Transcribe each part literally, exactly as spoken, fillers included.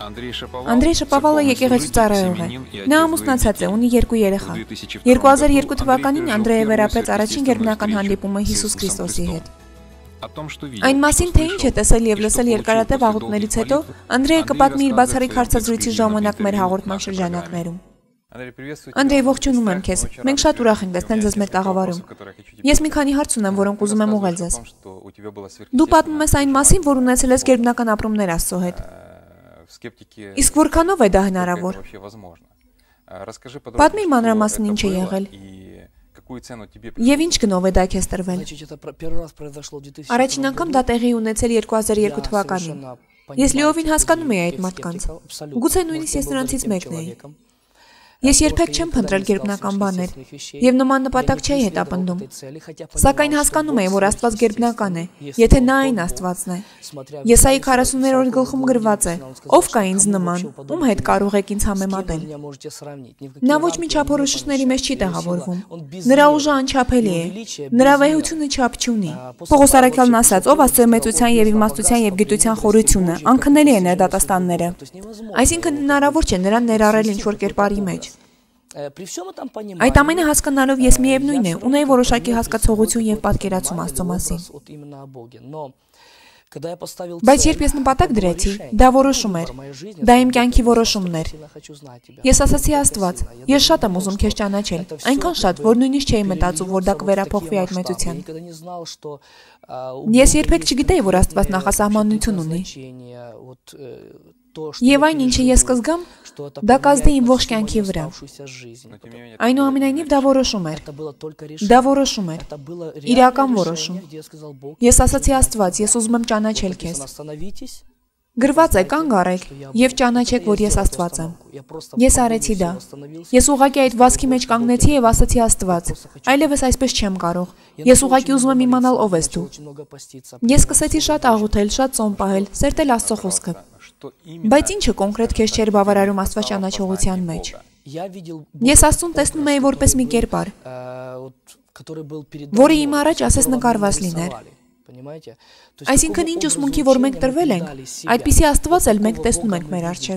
Անդրեյ Շապավալը եկեղեցու ծառայող է։ Նա ամուսնացած է, ունի երկու երեխա։ երկու հազար երկու թվականին Անդրեյը վերապրեց առաջին գերբնական հանդիպումը Հիսուս Քրիստոսի հետ։ Այն մասին, թե ինչ է տեսել եւ լսել երկարատև աղոթներից հետո, Անդրեյը կպատմի իր բացառիկ հարցազրույցի ժամանակ մեր հաղորդման շրջանակներում։ Անդրեյ, ողջունում եմ քեզ։ Մենք շատ ուրախ ենք տեսնել ձեզ մեր տաղավարում։ Ես մի քանի հարց ունեմ, որոնք ուզում եմ ուղղել ձեզ։ Դու պատմում ես այն մասին, որ ունեցել ես գերբնական ապրումներ Աստծո հետ։ Իսկ որքանով է դա հնարավոր։ Պատմի մանրամասն ինչ է եղել։ Եվ ինչ գնով է դա քեզ տրվել։ Առաջին անգամ դա տեղի ունեցել երկու հազար երկու թվականին։ Ես լիովին հասկանում եի այդ մարդկանց։ Գուցե նույնիսկ ես նրանցից մեկն էի։ Ես երբեք չեմ փնտրել գերբնական բաներ եւ նման նպատակ չէի հետապնդում։ Սակայն հասկանում էի, որ Աստված գերբնական է, եթե նա այն Աստվածն է։ Եսայի քառասուններորդ գլխում գրված է. Ով կա ինձ նման, ում հետ կարող եք ինձ համեմատել։ Նա ոչ մի չափորոշիչների մեջ չի տեղավորվում։ Նրա ուժը անչափելի է։ Նրա վեհությունը չափ չունի։ Պողոս առաքյալն ասաց. ով Աստծո մեծության եւ իմաստության եւ գիտության խորությունը, անքննելի է նրա դատաստանները։ Այսինքն հնարավոր չէ նրան ներառել ինչ-որ կերպարի մեջ։ Այդ ամենը հասկանալով ես միևնույն է, ունեի որոշակի հասկացողություն եւ պատկերացում Աստծո մասին։ Բայց երբ ես նպատակ դրեցի, դա որոշում էր, դա իմ կյանքի որոշումն էր։ Ես ասացի Աստված, ես շատ եմ ուզում քեզ ճանաչել, այնքան շատ, որ նույնիսկ չէի մտածում, որ դա կվերափոխվի այդ մեծության։ Ես երբեք չգիտեի, որ Աստված նախասահմանություն ունի։ Եվ այն, ինչը ես կզգամ, դա կազդի իմ ողջ կյանքի վրա։ Այնուամենայնիվ դա որոշում էր։ Դա որոշում էր։ Իրական որոշում։ Ես ասացի Աստված, ես ուզում եմ ճանաչել քեզ։ Գրված է, կանգ առեք եւ ճանաչեք, որ ես Աստված եմ։ Ես արեցի դա։ Ես ուղղակի այդ վազքի մեջ կանգնեցի եւ ասացի Աստված, այլևս այսպես չեմ կարող։ Ես ուղղակի ուզում եմ իմանալ ով ես դու։ Ես սկսեցի շատ աղոթել, շատ ծոմ պահել, սերտել Աստծո խոսքը։ Բայց ինչը կոնկրետ քեզ չէր բավարարում Աստված ճանաչողության մեջ։ Ես Աստծուն տեսնում էի որպես մի կերպար, որը իմ առաջ ասես նկարված լիներ։ Այսինքն ինչ ուսմունքի, որ մենք տրվել ենք, այդպիսի Աստված էլ մենք տեսնում ենք մեր առջև։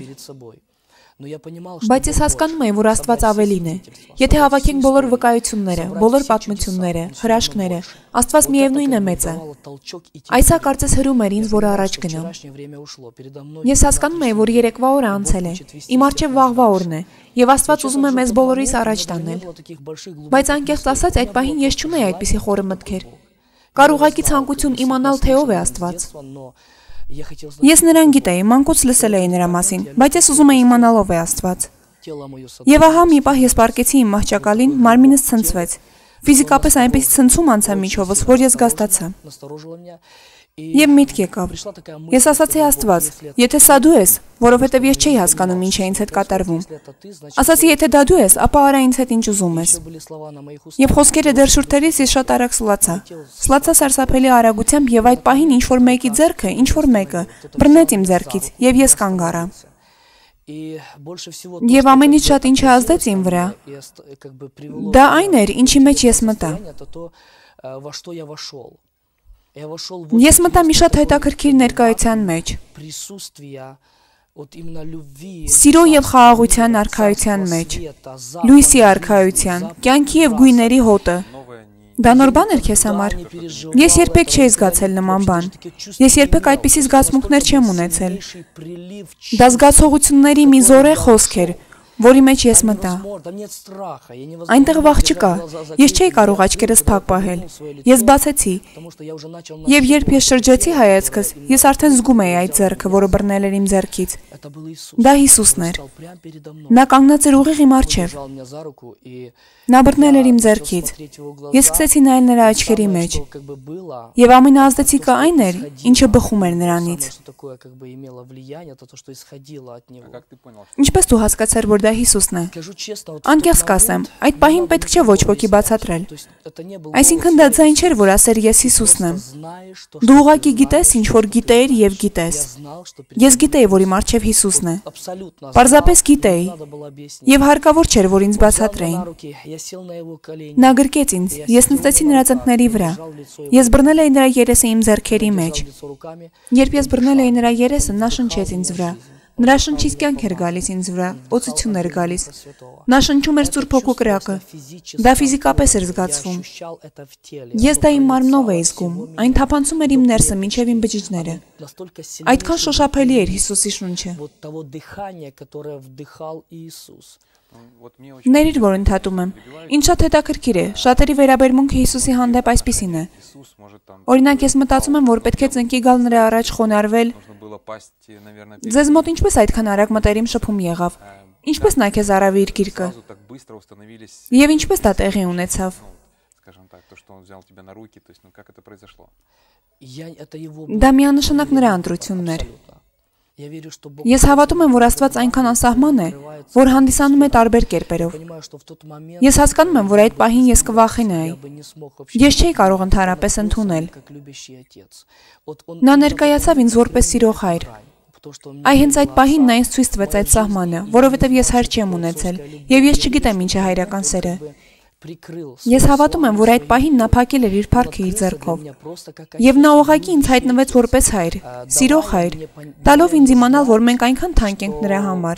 Բայց ես հասկանում եմ, որ Աստված ավելին է։ Եթե հավաքենք բոլոր վկայությունները, բոլոր պատմությունները, հրաշքները, Աստված միևնույն է մեծ է։ Այսա կարծես հրում էր ինձ, որ առաջ գնամ։ Ես հասկանում եմ, որ երեկվա օրը անցել է, իմ առջև վաղվա օրն է, եւ Աստված ուզում է մեզ բոլորիս առաջ տանել։ Բայց անկեղծ ասած, այդ պահին ես չունեի այդպիսի խորը մտքեր։ Կար ուղղակի ցանկություն իմանալ, թե ով է Աստված։ Ես նրան գիտեի, մանկուց լսել էի նրա մասին, բայց ես ուզում էի իմանալ ով է Աստված։ Եվ ահա մի պահ ես պառկեցի իմ մահճակալին, մարմինս ցնցվեց։ Ֆիզիկապես այնպես ցնցում անցա միջովս, որ ես գաստացա։ Եվ միտք եկավ։ Ես ասացի Աստված, եթե սա դու ես, որովհետև ես չէի հասկանում ինչ է ինձ հետ կատարվում։ Ասացի, եթե դա դու ես, ապա արա ինձ հետ ինչ ուզում ես։ Եվ խոսքերը դեռ շուրթերից ես շատ արագ սլացա։ Սլացա սարսափելի արագությամբ եւ այդ պահին ինչ որ մեկի ձեռքը, ինչ որ մեկը բռնեց իմ ձեռքից եւ ես կանգ առա։ Եվ ամենից շատ ինչը ազդեց իմ վրա։ Դա այն էր, ինչի մեջ ես մտա։ Ես մտա մի շատ հետաքրքիր ներկայության մեջ։ Սիրո եւ խաղաղության արքայության մեջ, լույսի արքայության, կյանքի եւ գույների հոտը։ Դա նոր բան էր քեզ համար։ Ես երբեք չէի զգացել նման բան։ Ես երբեք այդպիսի զգացմունքներ չեմ ունեցել։ Դա զգացողությունների մի զորեղ խոսք էր, որի մեջ ես մտա։ Այնտեղ վախ չկա։ Ես չէի կարող աչքերս փակ պահել։ Ես բացեցի։ Եվ երբ ես շրջեցի հայացքս, ես արդեն զգում էի այդ ձեռքը, որը բռնել էր իմ ձեռքից։ Դա Հիսուսն էր։ Նա կանգնած էր ուղիղ իմ առջև։ Նա բռնել էր իմ ձեռքից։ Ես սկսեցի նայել նրա աչքերի մեջ։ Եվ ամենաազդեցիկը այն էր, ինչը բխում էր նրանից։ Ինչպես դու հասկացար, որ դա Հիսուսն է։ Անկեղծ կասեմ, այդ պահին պետք չէ ոչ ոքի բացատրել։ Այսինքն դա ձայն չէր, որ ասեր ես Հիսուսն եմ։ Դու ուղղակի գիտես, ինչ որ գիտեիր եւ գիտես։ Ես գիտեի, որ իմ առջև Հիսուսն է։ Պարզապես գիտեի։ Եվ հարկավոր չէր, որ ինձ բացատրեին։ Նա գրկեց ինձ, ես նստեցի նրա ծնկների վրա։ Ես բռնել էի նրա երեսը իմ ձեռքերի մեջ։ Երբ ես բռնել էի նրա երեսը, նա շնչեց ինձ վրա։ Նրա շնչից կյանք էր գալիս ինձ վրա, օծություն էր գալիս։ Նա շնչում էր Սուրբ Հոգու կրակը։ Դա ֆիզիկապես էր զգացվում։ Ես դա իմ մարմնով էի զգում, այն թափանցում էր իմ ներսը մինչև իմ բջիջները։ Այդքան շոշափելի էր Հիսուսի շունչը։ Ներիր, որ ընդհատում եմ։ Ինչ շատ հետաքրքիր է, շատերի վերաբերմունքը Հիսուսի հանդեպ այսպիսին է։ Օրինակ, ես մտածում եմ, որ պետք է ծնկի գալ նրա առաջ խոնարհվել։ Ձեզ մոտ ինչպես այդքան արագ մտերիմ շփում եղավ։ Ինչպես նա քեզ արավ իր գիրկը։ Եվ ինչպես դա տեղի ունեցավ։ Դա միանշանակ նրա ընտրությունն էր։ Ես հավատում եմ, որ Աստված այնքան անսահման է, որ հանդիսանում է տարբեր կերպերով։ Ես հասկանում եմ, որ այդ պահին ես կվախենայի։ Ես չէի կարող ընդհանրապես ընդունել։ Նա ներկայացավ ինձ որպես սիրող հայր։ Այ հենց այդ պահին նա ինձ ցույց տվեց այդ սահմանը, որովհետև ես հայր չեմ ունեցել, եւ ես չգիտեմ ինչ է հայրական սերը։ Ես հավատում եմ, որ այդ պահին նա փակել էր իր փառքը իր ձեռքով։ Եվ նա ուղղակի ինձ հայտնվեց որպես հայր, սիրող հայր, տալով ինձ իմանալ, որ մենք այնքան թանկ ենք նրա համար։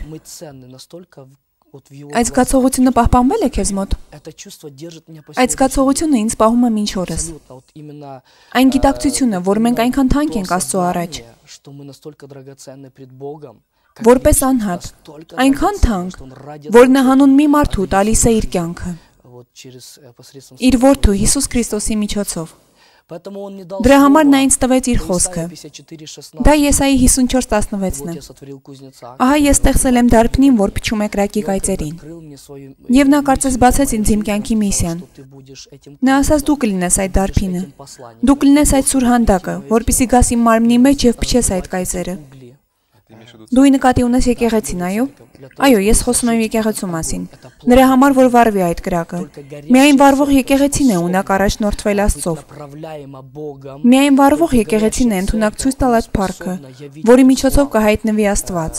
Այդ զգացողությունը պահպանվել է քեզ մոտ։ Այդ զգացողությունը ինձ պահում է մինչ օրս։ Այն գիտակցությունը, որ մենք այնքան թանկ ենք Աստծո առաջ։ Որպես անհատ, այնքան թանկ, որ նա հանուն մի մարդու տալիս է իր կյանքը։ Իր որդու Հիսուս Քրիստոսի միջոցով։ Դրա համար նա ինձ տվեց իր խոսքը։ Դա Եսայի հիսունչորս տասնվեցն է։ Ահա ես ստեղծել եմ դարբնին, որ փչում է կրակի կայծերին։ Եվ նա կարծես բացեց ինձ իմ կյանքի միսիան։ Նա ասաց դու կլինես այդ դարբինը։ Դու կլինես այդ սուր հանդակը, որպեսզի գաս իմ մարմնի մեջ եւ փչես այդ կայծերը։ Դու նկատի ունես եկեղեցին, այո։ Այո, ես խոսում եմ եկեղեցու մասին։ Նրա համար որ վառվի այդ կրակը։ Միայն վառվող եկեղեցին է ունակ առաջնորդվել Աստծով։ Միայն վառվող եկեղեցին է ընդունակ ցույց տալ այդ փառքը, որի միջոցով կհայտնվի Աստված։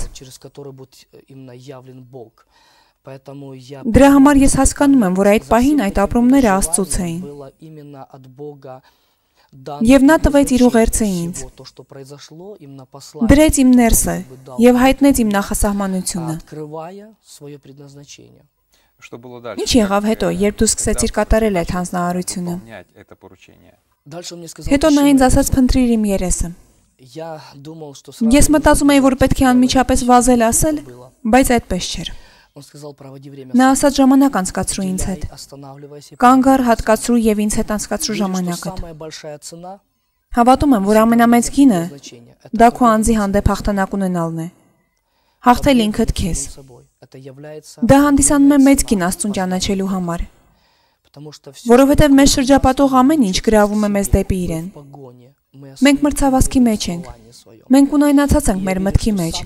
Դրա համար ես հասկանում եմ, որ այդ պահին այդ ապրումները Աստծուց էին։ Եվ նա տվեց իր ուղերձը ինձ։ Դրեց իմ ներսը եւ հայտնեց իմ նախասահմանությունը։ Ինչ եղավ հետո, երբ դու սկսեցիր կատարել այդ հանձնարարությունը։ Հետո նա ինձ ասաց փնտրիր իմ երեսը։ Ես մտածում էի, որ պետք է անմիջապես վազել ասել, բայց այդպես չէր։ Նա ասաց ժամանակ անցկացրու ինձ հետ։ Կանգ առ, հատկացրու եւ ինձ հետ անցկացրու ժամանակդ։ Հավատում եմ, որ ամենամեծ գինը դա քո անձի հանդեպ հաղթանակ ունենալն է։ Հաղթել ինքդ քեզ։ Դա հանդիսանում է մեծ գին Աստծուն ճանաչելու համար։ Որովհետև մեզ շրջապատող ամեն ինչ գրավում է մեզ դեպի իրեն։ Մենք մրցավազքի մեջ ենք։ Մենք ունայնացած ենք մեր մտքի մեջ։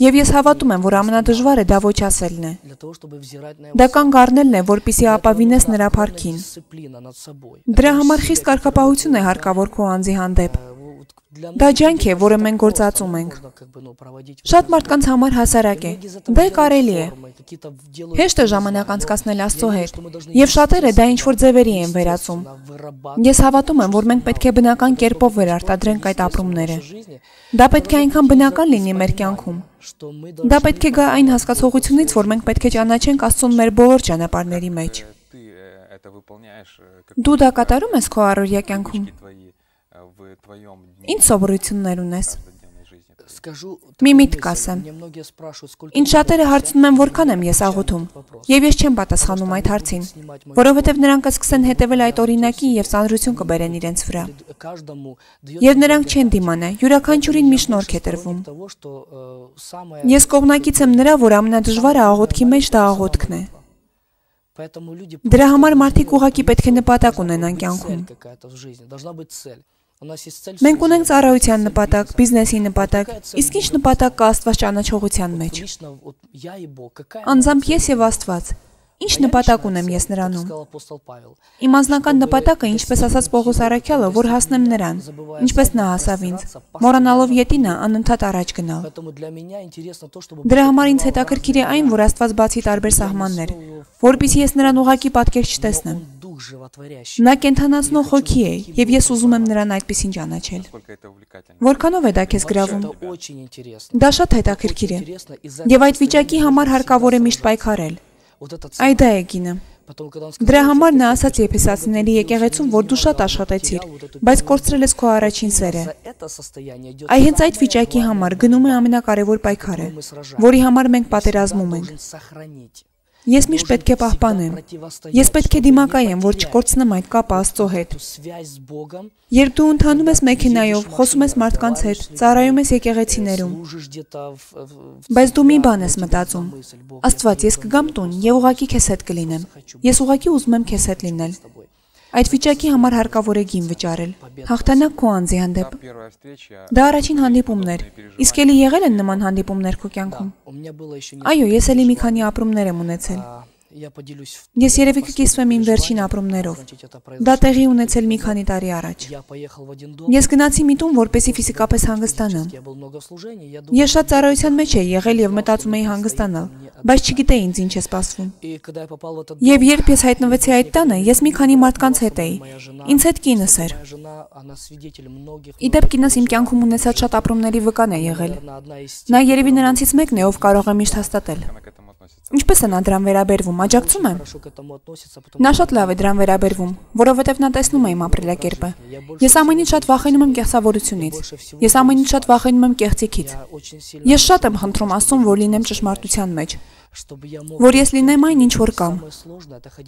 Եվ ես հավատում եմ, որ ամենադժվարը դա ոչ ասելն է։ Դա կանգ առնելն է, որպեսզի ապավինես նրա փառքին։ Դրա համար խիստ կարգապահություն է հարկավոր քո անձի հանդեպ։ Դա ջանք է, որը մենք գործածում ենք։ Շատ մարդկանց համար հասարակ է։ Դա կարելի է։ Հեշտ է ժամանակ անցկացնել Աստծո հետ, եւ շատերը դա ինչ-որ ձևերի են վերածում։ Ես հավատում եմ, որ մենք պետք է բնական կերպով վերարտադրենք այդ ապրումները։ Դա պետք է այնքան բնական լինի մեր կյանքում։ Դա պետք է գա այն հասկացողությունից, որ մենք պետք է ճանաչենք Աստծուն մեր բոլոր ճանապարհների մեջ։ Դու դա կատարում ես քո առօրյա կյանքում։ Ինչ սովորություններ ունես։ Մի միտք ասեմ։ Ինչ շատերը հարցնում են, որքան եմ ես աղոթում, եւ ես չեմ պատասխանում այդ հարցին, որովհետեւ նրանք կսկսեն հետևել այդ օրինակին եւ ծանրություն կբերեն իրենց վրա։ Եվ նրանք չեն դիմանա, յուրաքանչյուրին մի շնորհք է տրվում։ Ես կողմնակից եմ նրա, որ ամենադժվարը աղոթքի մեջ դա աղոթքն է։ Դրա համար մարդիկ ուղղակի պետք է նպատակ ունենան կյանքում։ Մենք ունենք ծառայության նպատակ, բիզնեսի նպատակ, իսկ ինչ նպատակ կա Աստված ճանաչողության մեջ։ Անձամբ ես եւ Աստված։ Ինչ նպատակ ունեմ ես նրանում։ Իմ անձնական նպատակը, ինչպես ասաց Պողոս առաքյալը, որ հասնեմ նրան, ինչպես նա հասավ ինձ, մոռանալով ետինը անընդհատ առաջ գնալ։ Դրա համար ինձ հետաքրքիր է այն, որ Աստված բացի տարբեր սահմաններ, որպեսզի ես նրան ուղղակի պատկեր չտեսնեմ։ Նա կենթանացնող հոգի է, եւ ես ուզում եմ նրան այդպեսին ճանաչել։ Որքանով է դա քեզ գրավում։ Դա շատ հետաքրքիր է։ Եվ այդ վիճակի համար հարկավոր է միշտ պայքարել։ Այ դա է գինը։ Դրա համար նա ասաց Եփեսացիների եկեղեցում, որ դու շատ աշխատեցիր, բայց կորցրել ես քո առաջին սերը։ Այ հենց այդ վիճակի համար գնում է ամենակարևոր պայքարը, որի համար մենք պատերազմում ենք։ Ես միշտ պետք է պահպանեմ։ Ես պետք է դիմակայեմ, որ չկորցնեմ այդ կապը Աստծո հետ։ Երբ դու ընթանում ես մեքենայով, խոսում ես մարդկանց հետ, ծառայում ես եկեղեցիներում, բայց դու մի բան ես մտածում. Աստված, ես կգամ տուն եւ ուղակի քեզ հետ կլինեմ։ Ես ուղակի ուզում եմ քեզ հետ լինել։ Այդ վիճակի համար հարկավոր է գին վճարել։ Հաղթանակ քո անձի հանդեպ։ Դա առաջին հանդիպումն էր։ Իսկ էլի եղել են նման հանդիպումներ քո կյանքում։ Այո, ես էլի մի քանի ապրումներ եմ ունեցել։ Ես երևի կկիսվեմ իմ վերջին ապրումներով։ Դա տեղի ունեցել մի քանի տարի առաջ։ Ես գնացի մի տուն, որպեսզի ֆիզիկապես հանգստանամ։ Ես շատ ծառայության մեջ էի եղել եւ մտածում էի հանգստանալ, բայց չգիտեի ինձ ինչ է սպասվում։ Եվ երբ ես հայտնվեցի այդ տանը, ես մի քանի մարդկանց հետ էի։ Ինձ հետ կինս էր։ Իդեպ կինս իմ կյանքում ունեցած շատ ապրումների վկան է եղել։ Նա երևի նրանցից մեկն է, ով կարող է միշտ հաստատել։ Ինչպես է նա դրան վերաբերվում, աջակցում է։ Նա շատ լավ է դրան վերաբերվում, որովհետև նա տեսնում է իմ ապրելակերպը։ Ես ամենից շատ վախենում եմ կեղծավորությունից։ Ես ամենից շատ վախենում եմ կեղծիքից։ Ես շատ եմ խնդրում Աստծուն, որ լինեմ ճշմարտության մեջ, որ ես լինեմ այն, ինչ որ կամ։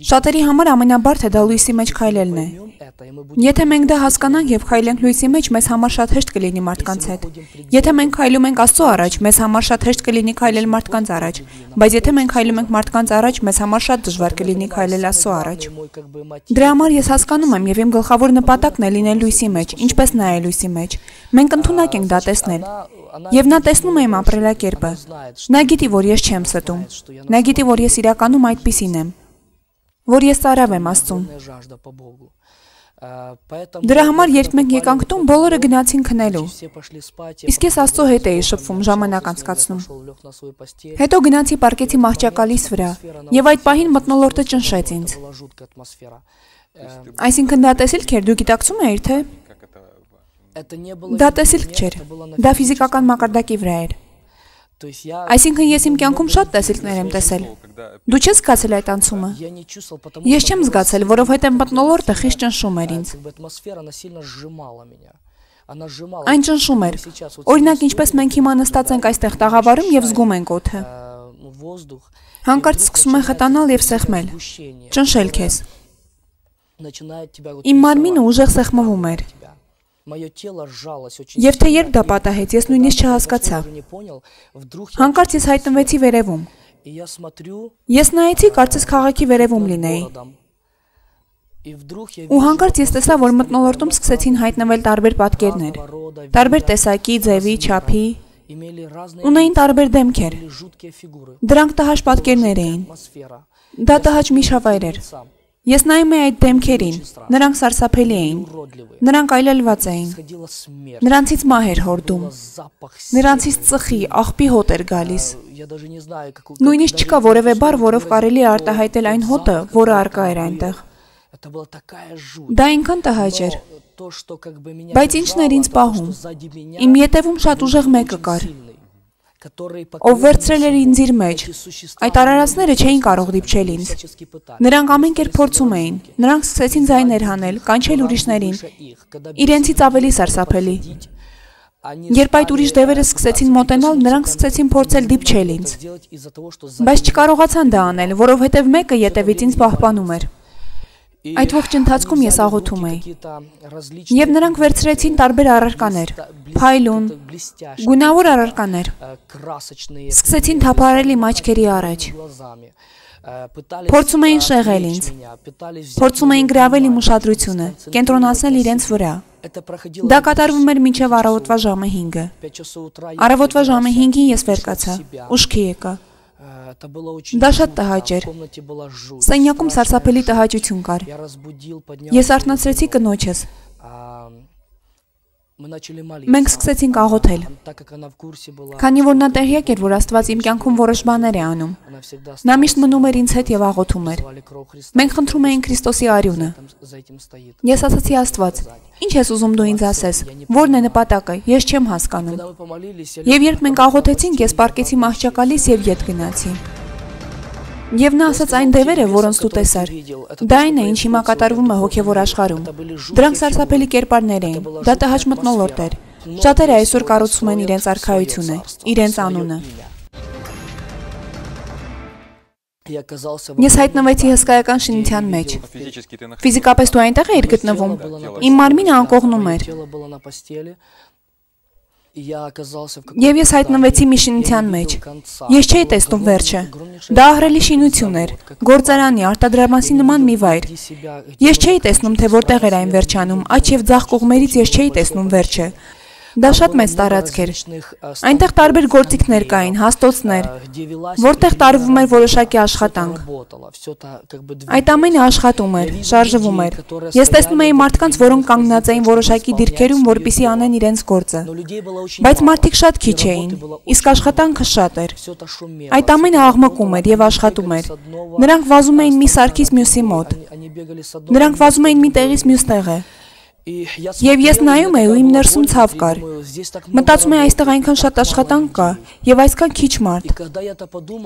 Շատերի համար ամենաբարդը դա լույսի մեջ քայլելն է։ Եթե մենք դա հասկանանք եւ քայլենք լույսի մեջ, մեզ համար շատ հեշտ կլինի մարդկանց հետ։ Եթե մենք քայլում ենք Աստծո առաջ, մեզ համար շատ հեշտ կլինի քայլել մարդկանց առաջ, բայց եթե մենք քայլում ենք մարդկանց առաջ, մեզ համար շատ դժվար կլինի քայլել Աստծո առաջ։ Դրա համար ես հասկանում եմ եւ իմ գլխավոր նպատակն է լինել լույսի մեջ, ինչպես նա է լույսի մեջ։ Մենք ընդունակ ենք դա տեսնել։ Եվ նա տեսնում է իմ ապրելակերպը։ Նա գիտի, որ ես չեմ ստում։ Նա գիտի, որ ես իրականում այդպիսին եմ, որ ես ծառավ եմ Աստծուն։ Դրա համար, երբ մենք եկանք տուն, բոլորը գնացին քնելու։ Իսկ ես Աստծո հետ էի շփվում, ժամանակ անցկացնում։ Հետո գնացի պարկեցի մահճակալիս վրա, եւ այդ պահին մթնոլորտը ճնշեց ինձ։ Այսինքն դա տեսիլք էր, դու գիտակցում էիր, թե։ Դա տեսիլք չէր, դա ֆիզիկական մակարդակի վրա էր։ Այսինքն ես իմ կյանքում շատ տեսիլքներ եմ տեսել։ Դու չես զգացել այդ անցումը։ Ես չեմ զգացել, որովհետև մթնոլորտը խիստ ճնշում էր ինձ։ Այն ճնշում էր։ Օրինակ, ինչպես մենք հիմա նստած ենք այստեղ տաղավարում եւ զգում ենք օդը։ Հանկարծ սկսում է խտանալ եւ սեղմել։ Ճնշել քեզ։ Իմ մարմինը ուժեղ սեղմվում էր։ Եվ թե երբ դա պատահեց, ես նույնիսկ չհասկացա։ Հանկարծ ես հայտնվեցի վերևում։ Ես նայեցի, կարծես քաղաքի վերևում լինեի։ Ու հանկարծ ես տեսա, որ մթնոլորտում սկսեցին հայտնվել տարբեր պատկերներ, տարբեր տեսակի, ձևի, չափի, ունեին տարբեր դեմքեր։ Դրանք տհաճ պատկերներ էին։ Դա տհաճ միջավայր էր։ Ես նայում էի այդ դեմքերին, նրանք սարսափելի էին, նրանք այլելված էին, նրանցից մահ էր հորդում, նրանցից ծխի, աղբի հոտ էր գալիս։ Նույնիսկ չկա որևէ բառ, որով կարելի է արտահայտել այն հոտը, որը առկա էր այնտեղ։ Դա այնքան տհաճ էր, բայց ինչն էր ինձ պահում, իմ ետևում շատ ուժեղ մեկը կար, ով վերցրել էր ինձ իր մեջ, այդ արարածները չէին կարող դիպչել ինձ, նրանք ամեն կերպ փորձում էին, նրանք սկսեցին ձայներ հանել, կանչել ուրիշներին, իրենցից ավելի սարսափելի։ Երբ այդ ուրիշ դևերը սկսեցին մոտենալ, նրանք սկսեցին փորձել դիպչել ինձ, բայց չկարողացան դա անել, որովհետև մեկը ետևից ինձ պահպանում էր։ Այդ ողջ ընթացքում ես աղոթում էի։ Եվ նրանք վերցրեցին տարբեր առարկաներ, փայլուն, գունավոր առարկաներ։ Սկսեցին թափառել իմ աչքերի առաջ։ Փորձում էին շեղել ինձ։ Փորձում էին գրավել իմ ուշադրությունը, կենտրոնացնել իրենց վրա։ Դա կատարվում էր մինչև առավոտվա ժամը հինգը։ Առավոտվա ժամը հինգին ես վեր կացա, ուշքի եկա։ Դա շատ տհաճ էր։ Սենյակում սարսափելի տհաճություն կար։ Ես արթնացրեցի կնոջս։ Մենք սկսեցինք աղոթել, քանի որ նա տեղյակ էր, որ Աստված իմ կյանքում որոշ բաներ է անում։ Նա միշտ մնում էր ինձ հետ եւ աղոթում էր։ Մենք խնդրում էինք Քրիստոսի արյունը։ Ես ասացի Աստված, ի՞նչ ես ուզում դու ինձ ասես, ո՞րն է նպատակը, ես չեմ հասկանում։ Եվ երբ մենք աղոթեցինք, ես պառկեցի մահճակալից եւ ետ գնացի։ Եվ նա ասաց այն դևերը, որոնց դու տեսար, դա այն է, ինչ հիմա կատարվում է հոգևոր աշխարհում։ Դրանք սարսափելի կերպարներ էին, դա տհաճ մթնոլորտ էր։ Շատերը այսօր կառուցում են իրենց արքայությունը, իրենց անունը։ Ես հայտնվեցի հսկայական շինության մեջ։ Ֆիզիկապես դու այնտեղ էիր գտնվում։ Իմ մարմինը անկողնում էր։ Եվ ես հայտնվեցի մի շինության մեջ։ Ես չէի տեսնում վերջը։ Դա ահռելի շինություն էր, գործարանի, արտադրամասի նման մի վայր։ Ես չէի տեսնում, թե որտեղ էր այն վերջանում, աջ եւ ձախ կողմերից ես չէի տեսնում վերջը։ Դա շատ մեծ տարածք էր։ Այնտեղ տարբեր գործիքներ կային, հաստոցներ, որտեղ տարվում էր որոշակի աշխատանք։ Այդ ամենը աշխատում էր, շարժվում էր։ Ես տեսնում էի մարդկանց, որոնք կանգնած էին որոշակի դիրքերում, որպեսզի անեն իրենց գործը։ Բայց մարդիկ շատ քիչ էին, իսկ աշխատանքը շատ էր։ Այդ ամենը աղմկում էր եւ աշխատում էր։ Նրանք վազում էին մի սարքից մյուսի մոտ։ Նրանք վազում էին մի տեղից մյուս տեղը։ Եվ ես նայում էի ու իմ ներսում ցավ կար։ Մտածում էի այստեղ այնքան շատ աշխատանք կա եւ այսքան քիչ մարդ։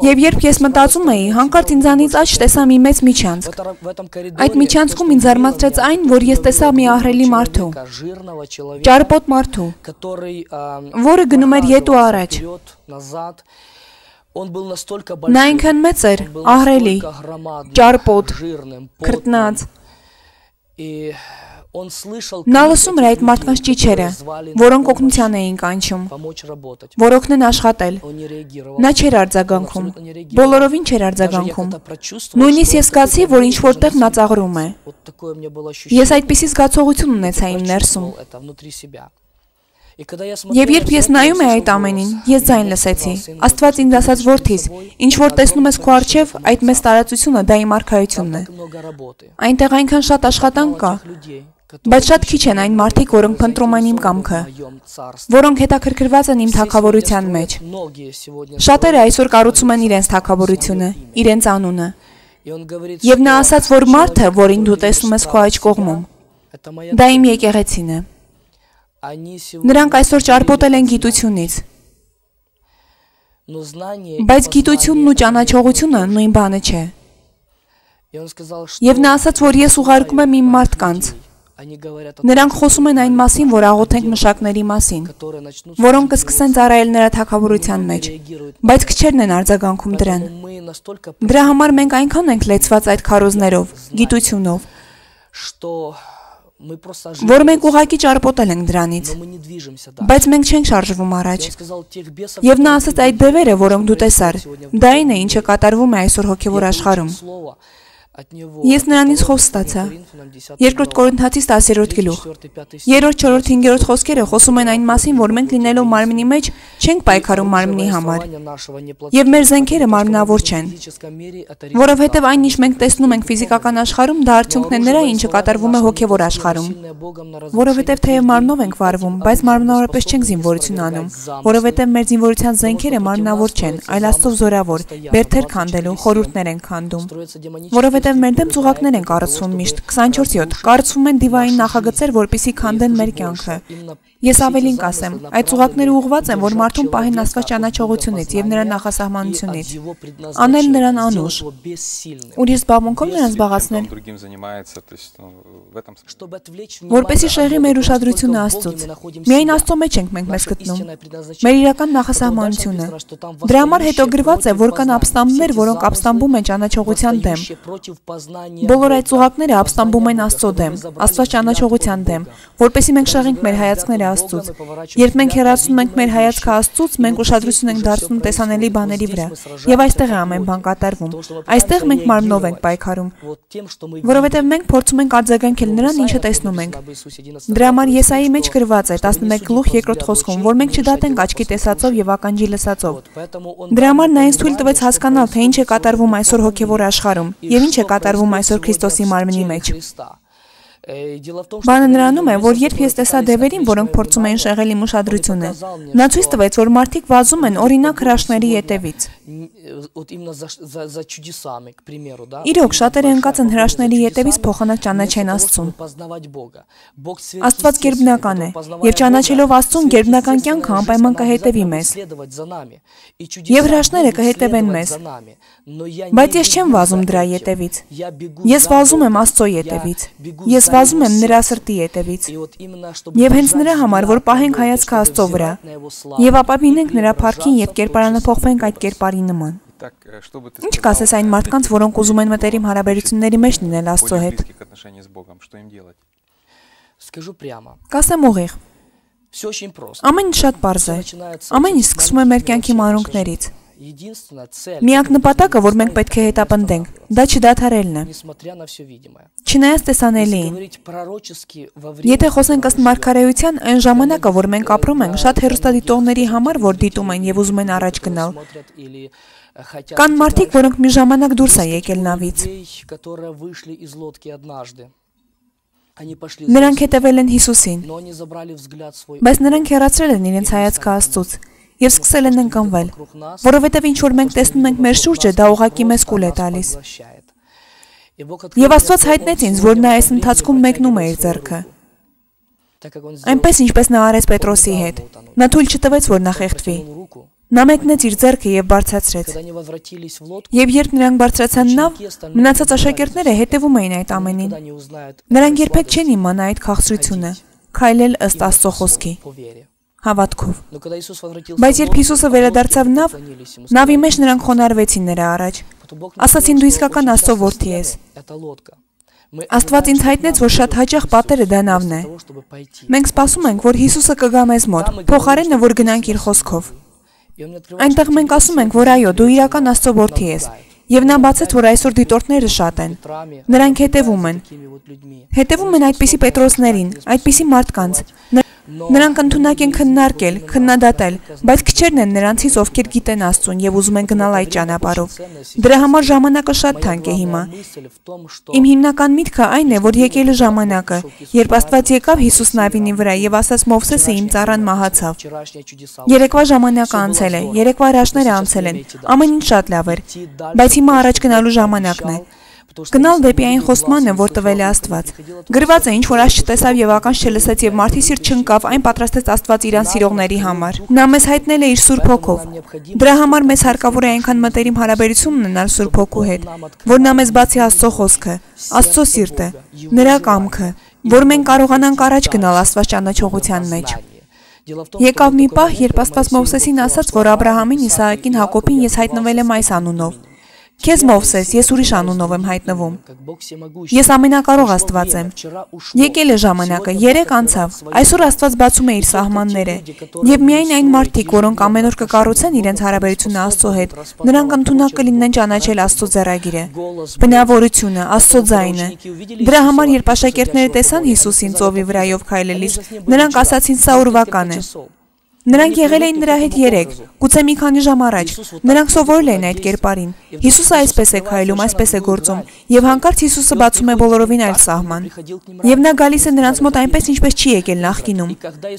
Եվ երբ ես մտածում էի, հանկարծ ինձանից աջ տեսա մի մեծ միջանցք։ Այդ միջանցքում ինձ զարմացրեց այն, որ ես տեսա մի ահռելի մարդու, ճարպոտ մարդու, որը գնում էր ետ ու առաջ։ Նա այնքան մեծ էր, ահռելի, ճարպոտ, քրտնած։ Նա լսում էր այդ մարդկանց ճիչերը, որոնք օգնության էին կանչում, որ օգնեն աշխատել։ Նա չէր արձագանքում, բոլորովին չէր արձագանքում։ Նույնիսկ ես զգացի, որ ինչ որտեղ նա ծաղրում է։ Ես այդպիսի զգացողություն ունեցա իմ ներսում։ Եվ երբ ես նայում էի այդ ամենին, ես ձայն լսեցի։ Աստված ինձ ասաց, որդիս, ինչ որ տեսնում ես քո առջև, այդ մեծ տարածությունը դա իմ արքայությունն է։ Այնտեղ այնքան շատ աշխատանք կա, բայց շատ քիչ են այն մարդիկ, որոնք փնտրում են իմ կամքը, որոնք հետաքրքրված են իմ թագավորության մեջ։ Շատերը այսօր կառուցում են իրենց թագավորությունը, իրենց անունը։ Եվ նա ասաց, որ մարդը, որին դու տեսնում ես քո աջ կողմում, դա իմ եկեղեցին է։ Նրանք այսօր ճարպոտել են գիտությունից։ Բայց գիտությունն ու ճանաչողությունը նույն բանը չէ։ Եվ նա ասաց, որ ես ուղարկում եմ իմ մարդկանց։ Նրանք խոսում են այն մասին, որ աղոթենք մշակների մասին, որոնք կսկսեն ծառայել նրա թագավորության մեջ, բայց քչերն են արձագանքում դրան։ Դրա համար մենք այնքան ենք լեցված այդ քարոզներով, գիտությունով, որ մենք ուղղակի ճարպոտել ենք դրանից, բայց մենք չենք շարժվում առաջ։ Եվ նա ասաց, այդ դևերը, որոնք դու տեսար, դա այն է, ինչը կատարվում է այսօր հոգևոր աշխարհում։ Ես նրանից խոսք ստացա։ Երկրորդ Կորինթացիս տասերորդ գլուխ։ Երրորդ, չորրորդ, հինգերորդ խոսքերը խոսում են այն մասին, որ մենք լինելով մարմնի մեջ չենք պայքարում մարմնի համար, եւ մեր զենքերը մարմնավոր չեն, որովհետեւ այն, ինչ մենք տեսնում ենք ֆիզիկական աշխարհում, դա արդյունքն է նրա, ինչը կատարվում է հոգևոր աշխարհում, որովհետեւ թեև մարմնով ենք վարվում, բայց մարմնավորապես չենք զինվորություն անում, որովհետեւ մեր զինվորության զենքերը մարմնավոր չեն, այլ Աստծո զորավոր, բերդեր քանդելու, խորհուրդներ են քանդում, որովհետեւ մեր դեմ ծուղակներ են կառուցվում միշտ քսանչորս յոթ, կառուցվում են դիվային նախագծեր, որպեսզի քանդեն մեր կյանքը։ Ես ավելին կասեմ, այդ ծուղակները ուղղված են, որ մարդուն պահեն Աստված ճանաչողությունից եւ նրա նախասահմանությունից, անել նրան անուշ։ Ուրիշ զբաղմունքով նրան զբաղացնել, որպեսզի շեղի մեր ուշադրությունը Աստծուց։ Միայն Աստծո մեջ ենք մենք մեզ գտնում, մեր իրական նախասահմանությունը։ Դրա համար հետո գրված է, որ կան ապստամբներ, որոնք ապստամբում են ճանաչողության դեմ։ Բոլոր այդ ծուղակները ապստամբում են Աստծո դեմ, Աստված ճանաչողության դեմ, որպեսզի մենք շեղենք մեր հայացքները Աստծուց։ Երբ մենք հեռացնում ենք մեր հայացքը Աստծուց, մենք ուշադրություն ենք դարձնում տեսանելի բաների վրա, եւ այստեղ է ամեն բան կատարվում։ Այստեղ մենք մարմնով ենք պայքարում, որովհետեւ մենք փորձում ենք արձագանքել նրան, ինչը տեսնում ենք։ Դրա համար Եսայի մեջ գրված է տասնմեկ գլուխ երկրորդ խոսքում, որ մենք չդատենք աչքի տեսածով եւ ականջի լսածով։ Դրա համար նա ինձ թույլ տվեց հասկանալ, թե ինչ է կատարվում այսօր հոգեվոր աշխարհում եւ ինչ է կատարվում այսօր Քրիստոսի մարմնի մեջ։ Բանը նրանում է, որ երբ ես տեսա դևերին, որոնք փորձում էին շեղել իմ ուշադրությունը, նա ցույց տվեց, որ մարդիկ վազում են օրինակ հրաշքների ետևից։ Իրոք, շատերը ընկած են հրաշքների ետևից փոխանակ ճանաչեն Աստծուն։ Աստված գերբնական է, եւ ճանաչելով Աստծուն, գերբնական կյանքը անպայման կհետևի մեզ։ Եվ հրաշքները կհետևեն մեզ։ Բայց ես չեմ վազում դրա ետևից։ Ես վազում եմ Աստծո ետևից։ Ես վազում եմ նրա սրտի ետևից։ Եվ հենց նրա համար, որ պահենք հայացքը Աստծո վրա, եւ ապավինենք նրա փառքին եւ կերպարանափոխվենք այդ կերպարի նման։ Ինչ կասես այն մարդկանց, որոնք ուզում են մտերիմ հարաբերությունների մեջ լինել Աստծո հետ։ Կասեմ ուղիղ։ Ամեն ինչ շատ պարզ է։ Ամեն ինչ սկսվում է մեր կյանքի մանրուքներից։ Միակ նպատակը, որ մենք պետք է հետապնդենք, դա չդադարելն է։ Չնայած տեսանելիին։ Եթե խոսենք ըստ մարգարեության, այն ժամանակը, որ մենք ապրում ենք, շատ հեռուստադիտողների համար, որ դիտում են եւ ուզում են առաջ գնալ։ Կան մարդիկ, որոնք մի ժամանակ դուրս են եկել նավից։ Նրանք հետևել են Հիսուսին, բայց նրանք հեռացրել են իրենց հայացքը Աստծուց եւ սկսել են ընկնվել, որովհետեւ ինչ որ մենք տեսնում ենք մեր շուրջը, դա ուղղակի մեզ կուլ է տալիս։ Եվ Աստված հայտնեց ինձ, որ նա այս ընթացքում մեկնում է իր ձեռքը։ Այնպես ինչպես նա արեց Պետրոսի հետ։ Նա թույլ չտվեց, որ նա խեղդվի։ Նա մեկնեց իր ձեռքը եւ բարձրացրեց։ Եվ երբ նրանք բարձրացան նավ, մնացած աշակերտները հետևում էին այդ ամենին։ Նրանք երբեք չեն իմանա այդ քաղցրությունը, քայլել ըստ Աստծո խոսքի, հավատքով։ Բայց երբ Հիսուսը վերադարձավ նավ, նավի մեջ նրանք խոնարհվեցին նրա առաջ։ Ասացին՝ դու իսկական Աստծո որդի ես։ Աստված ինձ հայտնեց, որ շատ հաճախ պատերը դա նավն է։ Մենք սպասում ենք, որ Հիսուսը կգա մեզ մոտ, փոխարենը, որ գնանք իր խոսքով։ Այնտեղ մենք ասում ենք, որ այո, դու իրական Աստծո որդի ես, եւ նա բացեց, որ այսօր դիտորդները շատ են։ Նրանք հետևում են։ Հետևում են այդպիսի Պետրոսներին, այդպիսի մարդկանց։ Նրանք ընդունակ են քննարկել, քննադատել, բայց քչերն են նրանցից, ովքեր գիտեն Աստծուն եւ ուզում են գնալ այդ ճանապարհով։ Դրա համար ժամանակը շատ թանկ է հիմա։ Իմ հիմնական միտքը այն է, որ եկել է ժամանակը, երբ Աստված եկավ Հիսուս նավինի վրա եւ ասաց Մովսեսը իմ ծառան մահացավ։ Երեկվա ժամանակը անցել է, երեկվա հրաշքները անցել են, ամեն ինչ շատ լավ էր, բայց հիմա առաջ գնալու ժամանակն է։ Գնալ դեպի այն խոստմանը, որ տվել է Աստված։ Գրված է, ինչ որ այս չտեսավ եւ ականջ չլսեց եւ մարդի սիրտ չընկավ, այն պատրաստեց Աստված իրան սիրողների համար։ Նա մեզ հայտնել է իր Սուրբ Հոգով։ Դրա համար մեզ հարկավոր է այնքան մտերիմ հարաբերություն ունենալ Սուրբ Հոգու հետ, որ նա մեզ բացի Աստծո խոսքը, Աստծո սիրտը, նրա կամքը, որ մենք կարողանանք առաջ գնալ Աստված ճանաչողության մեջ։ Եկավ մի պահ, երբ Աստված Մովսեսին ասաց, որ Աբրահամին, Իսահակին, Հակոբին ես հայտնվել եմ այս անունով։ Քեզ Մովսես, ես ուրիշ անունով եմ հայտնվում։ Ես ամենակարող Աստված եմ։ Եկել է ժամանակը, երեք անցավ։ Այսօր Աստված բացում է իր սահմանները, եւ միայն այն մարդիկ, որոնք ամեն օր կկառուցեն իրենց հարաբերությունը Աստծո հետ, նրանք ընդունակ կլինեն ճանաչել Աստծո ձեռագիրը, բնավորությունը, Աստծո ձայնը։ Դրա համար, երբ աշակերտները տեսան Հիսուսին ծովի վրայով քայլելիս, նրանք ասացին՝ սա ուրվական է։ Նրանք եղել էին նրա հետ երեք, գուցե մի քանի ժամ առաջ։ Նրանք սովորել էին այդ կերպարին։ Հիսուսը այսպես է քայլում, այսպես է գործում, եւ հանկարծ Հիսուսը բացում է բոլորովին այլ սահման։ Եվ նա գալիս է նրանց մոտ այնպես, ինչպես չի եկել նախկինում։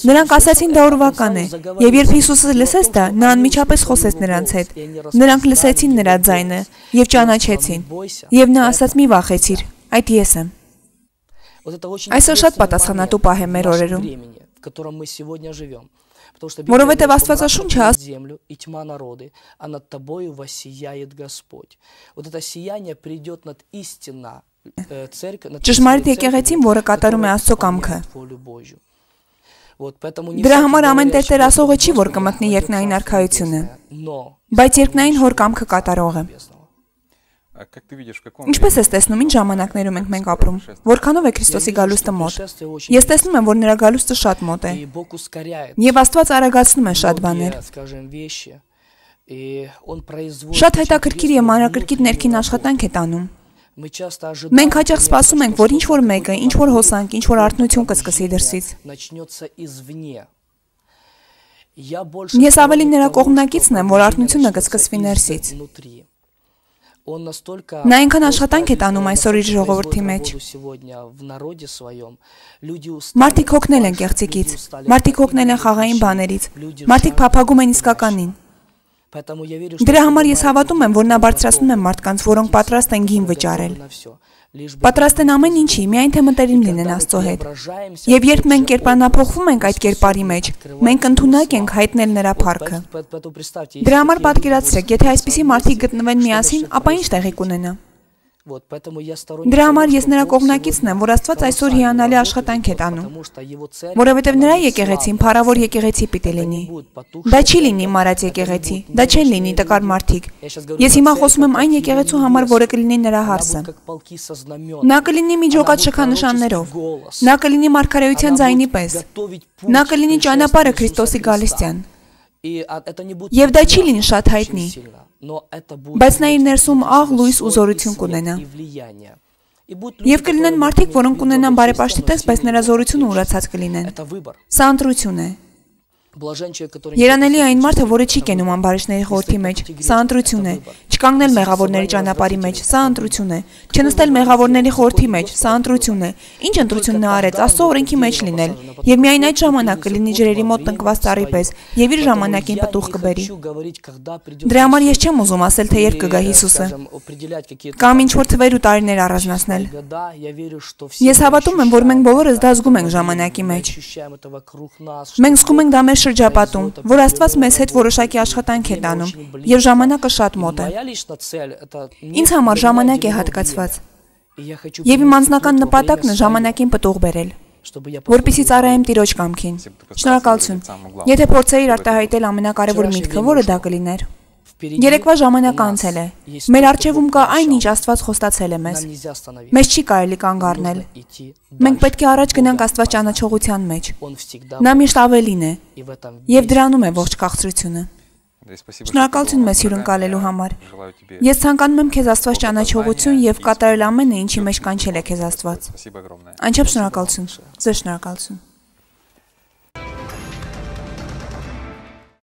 Նրանք ասացին՝ դա ուրվական է։ Եվ երբ Հիսուսը լսեց դա, նա անմիջապես խոսեց նրանց հետ։ Նրանք լսեցին нրա ձայնը եւ ճանաչեցին։ Եվ նա ասաց՝ մի վախեցիր, այդ ես եմ։ Այսօր շատ պատասխանատու պահ է մեր օրերում։ Որովհետև Աստվածաշունչը землю и тьма народы, а над тобою воссияет Господь. Вот это сияние придет над истина церковь. Ճշմարիտ եկեղեցին, որը կատարում է Աստծո կամքը։ Դրա համար ամեն տերտեր ասողը չի, որ կմտնի երկնային արքայությունը, բայց երկնային հոր կամքը կատարող է։ Ինչպես ես տեսնում, ինչ ժամանակներում ենք մենք ապրում, որքանով է Քրիստոսի գալուստը մոտ։ Ես տեսնում եմ, որ նրա գալուստը շատ մոտ է։ Եվ Աստված արագացնում է շատ բաներ։ Շատ հետաքրքիր եւ մանրակրկիտ ներքին աշխատանք է տանում։ Մենք հաճախ սպասում ենք, որ ինչ-որ մեկը, ինչ-որ հոսանք, ինչ-որ արթնություն կսկսի դրսից։ Ես ավելի նրա կողմնակիցն եմ, որ արթնությունը կսկսվի ներսից։ Նա այնքան աշխատանք է տանում այսօր իր ժողովրդի մեջ։ Մարդիկ հոգնել են կեղծիկից, մարդիկ հոգնել են խաղային բաներից, մարդիկ փափագում են իսկականին։ Դրա համար ես հավատում եմ, որ նա բարձրացնում է մարդկանց, որոնք պատրաստ են գին վճարել։ Պատրաստ են ամեն ինչի, միայն թե մտերիմ լինեն Աստծո հետ։ Եվ երբ մենք կերպարանափոխվում ենք այդ կերպարի մեջ, մենք ընդունակ ենք հայտնել նրա փառքը։ Դրա համար պատկերացրեք, եթե այսպիսի մարդիկ գտնվեն միասին, ապա ինչ տեղի կունենա։ Դրա համար ես նրա կողմնակիցն եմ, որ Աստված այսօր հիանալի աշխատանք է տանում, որովհետև նրա եկեղեցին փառավոր եկեղեցի պիտի լինի։ Դա չի լինի մարած եկեղեցի, դա չեն լինի տկար մարդիկ։ Ես հիմա խոսում եմ այն եկեղեցու համար, որը կլինի նրա հարսը։ Նա կլինի միջոկած շքանշաններով, նա կլինի մարգարեության ձայնի պես, նա կլինի ճանապարհը Քրիստոսի գալստյան։ Եվ դա չի լինի շատ հայտնի, բայց նա իր ներսում աղ լույս ու զորություն կունենա։ Եվ կլինեն մարդիկ, որոնք կունենան բարեպաշտի տեսք, բայց նրա զորությունը ուրացած կլինեն։ Սա ընտրություն է։ Երանելի այն մարդը, որը չի կենում ամբարիշտների խորհրդի մեջ, սա ընտրություն է։ Չկանգնել մեղավորների ճանապարհի մեջ, սա ընտրություն է։ Չնստել մեղավորների խորհրդի մեջ, սա ընտրություն է։ Ինչ ընտրություն նա արեց, Աստծո օրենքի մեջ լինել։ Եվ միայն այդ ժամանակ կլինի ջրերի մոտ տնկված ծառի պես, եւ իր ժամանակին պտուղ կբերի։ Դրա համար ես չեմ ուզում ասել, թե երբ կգա Հիսուսը, կամ ինչ որ թվեր ու տարիներ առանձնացնել։ Ես հավատում եմ, որ մենք բոլորս դա զգում ենք ժամանակի մեջ։ Մենք զգում ենք դա մեր շրջապատում, որ Աստված մեզ հետ որոշակի աշխատանք է տանում, եւ ժամանակը շատ մոտ է։ Ինձ համար ժամանակ է հատկացված։ Եվ իմ անձնական նպատակն է ժամանակին պտուղ բերել, որպեսզի ծառայեմ Տիրոջ կամքին։ Շնորհակալություն։ Եթե փորձեիր արտահայտել ամենակարևոր միտքը, որը դա կլիներ։ Երեկվա ժամանակը անցել է։ Մեր առջևում կա այն, ինչ Աստված խոստացել է մեզ։ Մեզ չի կարելի կանգ առնել։ Մենք պետք է առաջ գնանք Աստված ճանաչողության մեջ։ Նա միշտ ավելին է, եւ դրանում է ողջ քաղցրությունը։ Շնորհակալություն մեզ հյուրընկալելու համար։ Ես ցանկանում եմ քեզ Աստված ճանաչողություն եւ կատարել ամենը, ինչի մեջ կանչել է քեզ Աստված։ Անչափ շնորհակալություն։ Ձեզ շնորհակալություն։